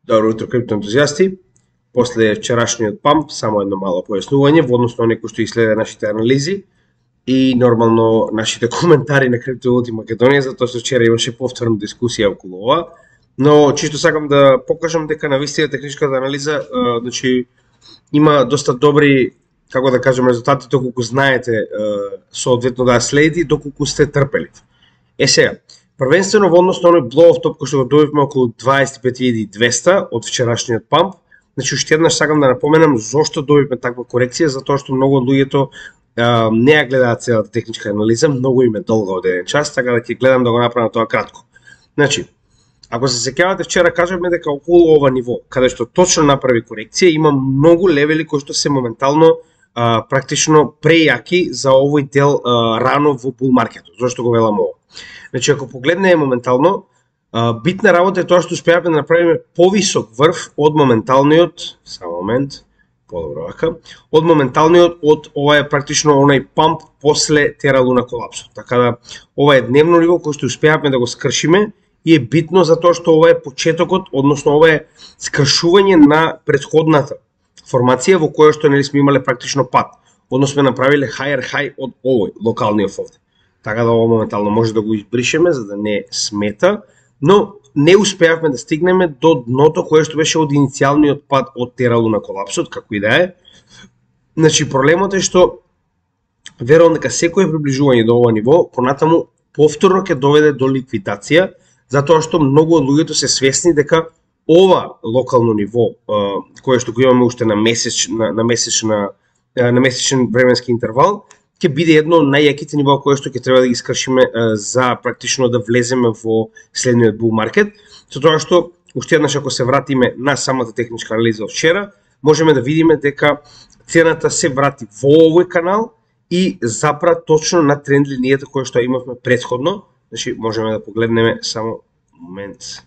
Добро утро, криптоентузијасти. После вчерашниот памп, само едно мало појаснување во однос на некој што изследа нашите анализи и нормално нашите коментари на Криптовалути Македонија, затоа што вчера имаше повторна дискусија околу ова. Но чисто сакам да покажам дека навистина техничката анализа, значи има доста добри, како да кажем, резултати доколку знаете соодветно да ја следите, доколку сте трпелив. Сега, првенствено во однос на оној blow-off топ кој што го добивме околу 25.200 од вчерашниот памп. Значи уште еднаш сакам да напоменам зошто добивме таква корекција, затоа што многу од луѓето не ја гледаат целата техничка анализа, многу им е долга од еден час, така да ќе гледам да го направам тоа кратко. Значи, ако се сеќавате, вчера кажавме дека околу ова ниво, каде што точно направи корекција, има многу левели кои што се моментално практично прејаки за овој дел рано во бул маркетот. Зошто го велам ова? Значи, ако погледнеме моментално, битна работа е тоа што успеавме да направиме повисок врв од моменталниот, само момент, подобро вака, од моменталниот од ова е практично онај памп после Тера Луна колапсот. Така да ова е дневно ниво кој што успеавме да го скршиме и е битно затоа што ова е почетокот, односно ова е скршување на претходната формација во која што нели сме имале практично пат. Односно сме направиле higher high од овој локалниот овде. Така да ова моментално може да го избришеме за да не смета, но не успеавме да стигнеме до дното кое што беше од иницијалниот пат од Тера Луна колапсот, како и да е. Значи проблемот е што верувам дека секое приближување до ова ниво понатаму повторно ќе доведе до ликвидација, затоа што многу од луѓето се свесни дека ова локално ниво кое што го имаме уште на месечен временски интервал ќе биде едно од најјаките нивоа кое што ќе треба да ги скршиме за практично да влеземе во следниот бул маркет. Со тоа што уште еднаш ако се вратиме на самата техничка анализа од вчера, можеме да видиме дека цената се врати во овој канал и запра точно на тренд линијата која што имавме претходно. Значи можеме да погледнеме само момент.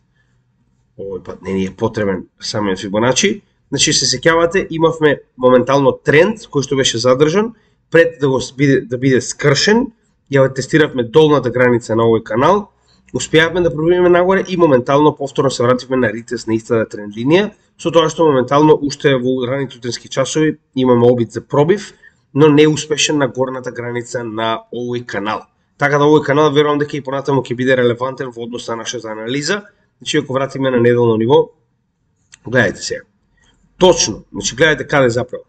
Овој пат не ни е потребен самиот Фибоначи. Значи се сеќавате, имавме моментално тренд кој што беше задржан пред да биде скршен. Ја тестиравме долната граница на овој канал, успеавме да пробиеме нагоре и моментално повторно се вративме на ритест на истата тренд линија, со тоа што моментално уште во раните утренски часови имаме обид за пробив, но не успешен на горната граница на овој канал. Така да овој канал верувам дека и понатаму ќе биде релевантен во однос на нашата анализа. Значи ако вратиме на неделно ниво, гледајте сега. Точно, значи гледајте каде заправо.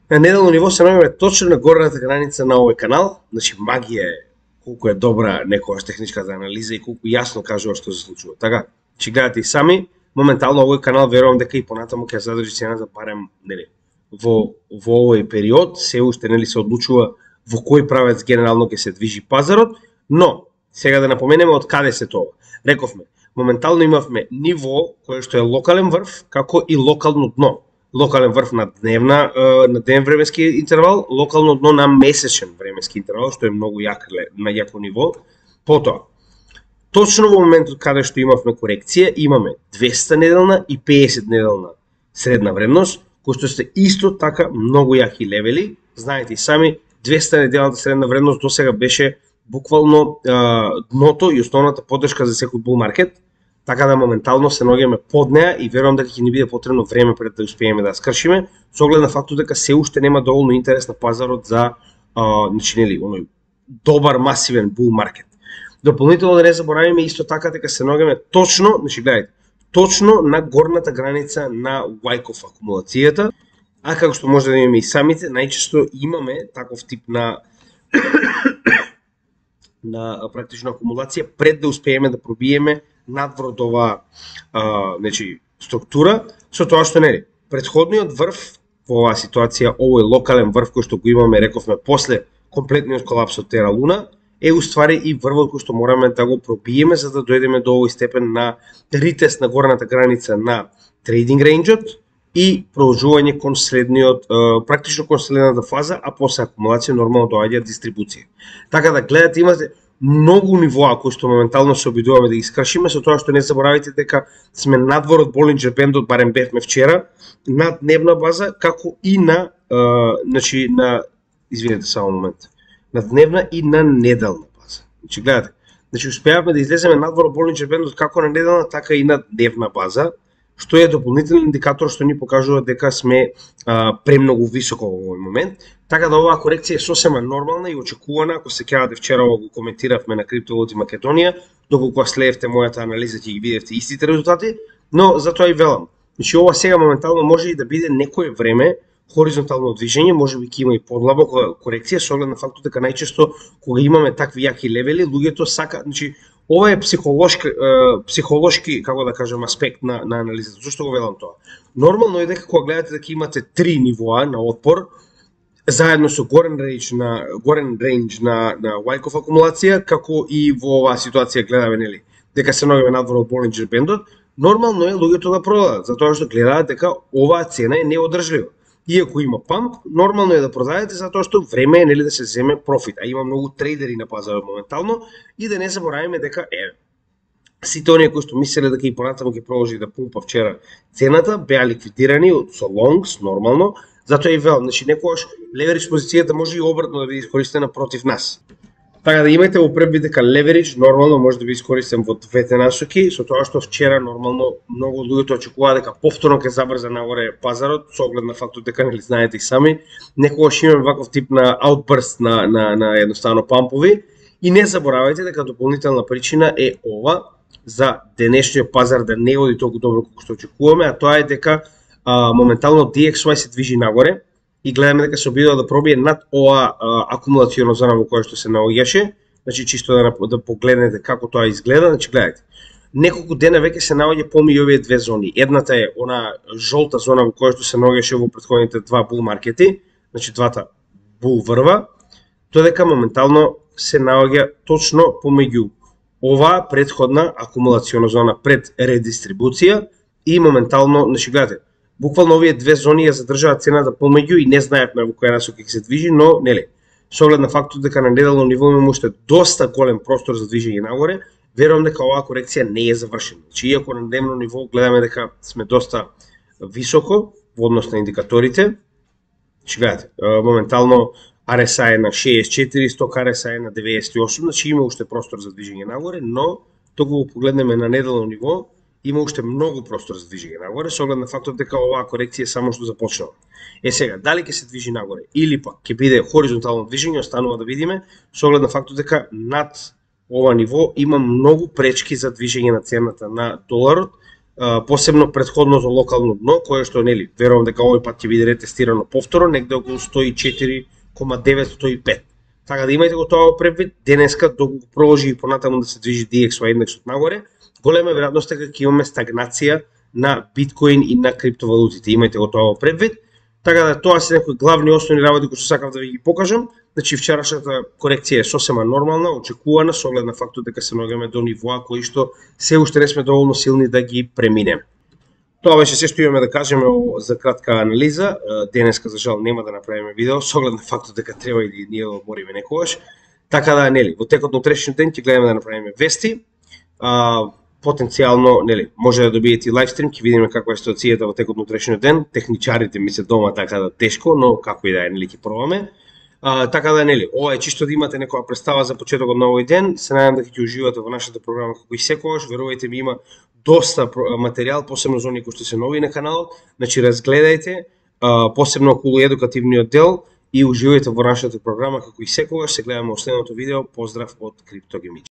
На неделно ниво се наоѓаме точно на горната граница на овој канал. Значи магија е колку е добра некојаш техничката анализа и колку јасно кажува што се случува. Така, че гледате и сами, моментално овој канал верувам дека и понатаму ќе задржи цената барем нели во овој период, се уште нели се одлучува во кој правец генерално ќе се движи пазарот, но сега да напоменеме од каде се тоа. Рековме, моментално имавме ниво кое што е локален врв, како и локално дно. Локален врв на дневен временски интервал, локално дно на месечен временски интервал, што е многу јако ниво. Потоа, точно во моментот каде што имавме корекција, имаме 200 неделна и 50 неделна средна вредност, кои што се исто така многу јаки левели. Знаете и сами, 200 неделната средна вредност досега беше буквално дното и основната поддршка за секој бул маркет. Така да моментално се наоѓаме под неа и верувам дека ќе ни биде потребно време пред да успееме да скршиме, со оглед на фактот дека се уште нема доволно интерес на пазарот за значи нели оној добар масивен бул маркет. Дополнително да не заборавиме исто така дека се наоѓаме точно, значи гледајте, точно на горната граница на Wyckoff акумулацијата, а како што може да имаме и самите, најчесто имаме таков тип на практично акумулација пред да успееме да пробиеме надвор од оваа значи структура, со тоа што нели претходниот врв во оваа ситуација, овој локален врв кој што го имаме, рековме, после комплетниот колапс од Тера Луна, е уствари и врвот кој што мораме да го пробиеме за да дојдеме до овој степен на ритест на горната граница на трейдинг рейнџот и продолжување кон следниот, практично кон следната фаза, а после акумулација нормално доаѓа дистрибуција. Така да гледате, имате многу нивоа кои што моментално се обидуваме да ги скршиме, со тоа што не заборавите дека сме надвор од Болинџер бендот, барем бевме вчера, на дневна база, како и на, извинете само момент, на дневна и на неделна база. Значи гледате, Значи успеавме да излеземе надвор од Болинџер бендот како на неделна, така и на дневна база, што е дополнителен индикатор што ни покажува дека сме премногу високо во овој момент. Така да оваа корекција е сосема нормална и очекувана. Ако се сеќавате, вчера го коментиравме на Криптовалути Македонија, доколку следевте мојата анализа ќе ги видевте истите резултати, но затоа и велам. Значи ова сега моментално може и да биде некое време хоризонтално движење, можеби ќе има и подлабока корекција со оглед на фактот дека најчесто кога имаме такви јаки левели, луѓето сака, значи ова е психолошки, како да кажам, аспект на анализата. Зошто го велам тоа? Нормално е дека кога гледате дека имате 3 нивоа на отпор, заедно со горен рейндж на Wyckoff акумулација, како и во оваа ситуација гледаме, нели, дека се наоѓаме надвор од Болинџер бендот, нормално е луѓето да продадат, затоа што гледаат дека оваа цена е неодржлива. Иако има памп, нормално е да продадете затоа што време е, нели, да се земе профит, а има многу трейдери на пазарот моментално и да не забораваме дека сите оние кои што мислеле дека и понатаму ќе продолжи да пумпа вчера цената беа ликвидирани со лонгс нормално, затоа и велам, значи некогаш леверидж позицијата може и обратно да биде искористена против нас. Така да имајте во предвид дека леверидж нормално може да биде искористен во двете насоки, со тоа што вчера нормално многу луѓето очекуваа дека повторно ќе забрза нагоре пазарот, со оглед на фактот дека, нели, знаете и сами, некогаш имаме ваков тип на outburst на едноставно пампови и не заборавајте дека дополнителна причина е ова за денешниот пазар да не оди толку добро колку што очекуваме, а тоа е дека моментално DXY се движи нагоре и гледаме дека се обидува да пробие над оваа акумулациона зона во која што се наоѓаше, значи чисто да погледнете како тоа изгледа, значи гледате. Неколку дена веќе се наоѓа помеѓу овие две зони. Едната е она жолта зона во која што се наоѓаше во претходните два бул маркети, значи двата бул врва, додека моментално се наоѓа точно помеѓу оваа претходна акумулациона зона пред редистрибуција и моментално, значи гледате, буквално овие две зони ја задржаат цената помеѓу и не знаевме во која насока ќе се движи, но нели, со оглед на фактот дека на неделно ниво имаме уште доста голем простор за движење нагоре, верувам дека оваа корекција не е завршена. Значи иако на дневно ниво гледаме дека сме доста високо во однос на индикаторите, значи гледате, моментално RSI е на 64, сток RSI е на 98, значи има уште простор за движење нагоре, но току го погледнеме на неделно ниво, има уште многу простор за движење нагоре, со оглед на фактот дека оваа корекција само што започнала. Сега, дали ќе се движи нагоре или пак ќе биде хоризонтално движење, останува да видиме, со оглед на фактот дека над ова ниво има многу пречки за движење на цената на доларот, посебно претходното локално дно, кое што, нели, верувам дека овој пат ќе биде ретестирано повторно, негде околу 104,9-105. Така да имајте го тоа во предвид, денеска доколку продолжи и понатаму да се движи DXY индексот нагоре, голема веројатност е дека имаме стагнација на биткоин и на криптовалутите. Имајте го тоа во предвид. Така да тоа се некои главни основни работи кои што сакав да ви ги покажам. Значи вчерашната корекција е сосема нормална, очекувана со оглед на фактот дека се наоѓаме до нивоа кои што се уште не сме доволно силни да ги преминеме. Тоа беше се што имаме да кажеме за кратка анализа. Денеска за жал нема да направиме видео со оглед на фактот дека треба и ние да одмориме некогаш. Така да, нели, во текот на утрешниот ден ќе гледаме да направиме вести. Потенцијално, нели, може да добиете и лайвстрим, ќе видиме каква е ситуацијата во текот на утрешниот ден. Техничарите ми се дома, така да тешко, но како и да е, нели, ќе пробаме. Така да, нели, ова е чисто да имате некоја представа за почетокот на овој ден. Се надевам дека ќе уживате во нашата програма како и секогаш. Верувајте ми, има доста материјал, посебно за оние кои што се нови на каналот. Значи разгледајте, посебно околу едукативниот дел и уживајте во нашата програма како и секогаш. Се гледаме во следното видео. Поздрав од Криптогемич.